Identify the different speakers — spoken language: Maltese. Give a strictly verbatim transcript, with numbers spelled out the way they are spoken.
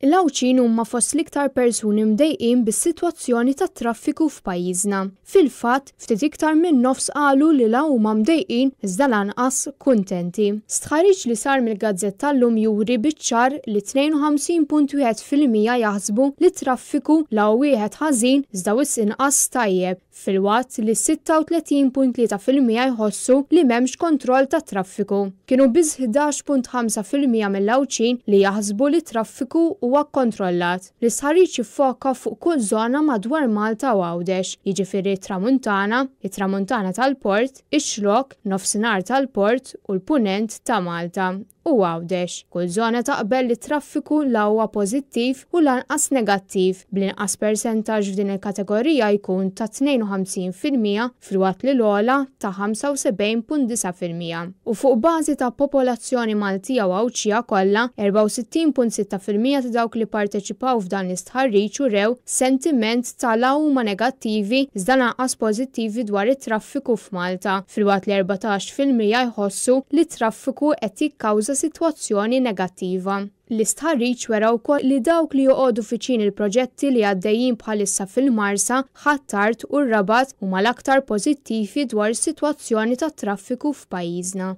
Speaker 1: L-Għawdxin huma fost l-iktar persuni mdejqin bis-sitwazzjoni tat-traffiku f'pajjiżna. Fil-fatt, ftit iktar minn nofs qalu li la huma mdejqin iżda lanqas kuntenti. Stħarriġ li sar mill-gazzetta llum juri biċ-ċar li tnejn u ħamsin punt wieħed fil-mija jaħsbu li t-traffiku la hu wieħed ħażin iżda wisq inqas tajjeb, filwaqt li sitta u tletin punt tlieta fil-mija jħossu li m'hemmx kontroll tat-traffiku. Kienu biss ħdax punt ħamsa fil-mija mill-Għawdxin li jaħsbu li t-traffiku huwa kkontrollat. L-istħarriġ jiffoka fuq kull żona madwar Malta u Għawdex, jiġifieri t-Tramuntana, it-Tramuntana tal-Port, ix-Xlokk, nofsinhar tal-Port u l-Punent ta' Malta u Għawdex. Kull żona taqbel li t-traffiku la huwa pożittiv u lanqas negattiv, bl-inqas persentaġġ f'din il-kategorija jkun ta' tnejn u ħamsin fil-mija filwaqt li l-ogħla ta' ħamsa u sebgħin punt disa' fil-mija. U fuq bażi ta' popolazzjoni Maltija u Għawdxija kollha, erbgħa u sittin punt sitta fil-mija ta' dawk li parteċipaw f'dan l-istħarriġ urew sentiment ta' la huma negattivi iżda lanqas pożittivi dwar it-traffiku f'Malta, filwaqt li erbatax fil-mija jħossu li t-traffiku qed jikkawża sitwazzjoni negattiva. L-istħarriġ wera wkoll li dawk li joqogħdu viċin il-proġetti li għaddejjin bħalissa fil-Marsa, Ħ'Attard u r-Rabat huma l-aktar pożittivi dwar is-sitwazzjoni tat-traffiku f'pajjiżna.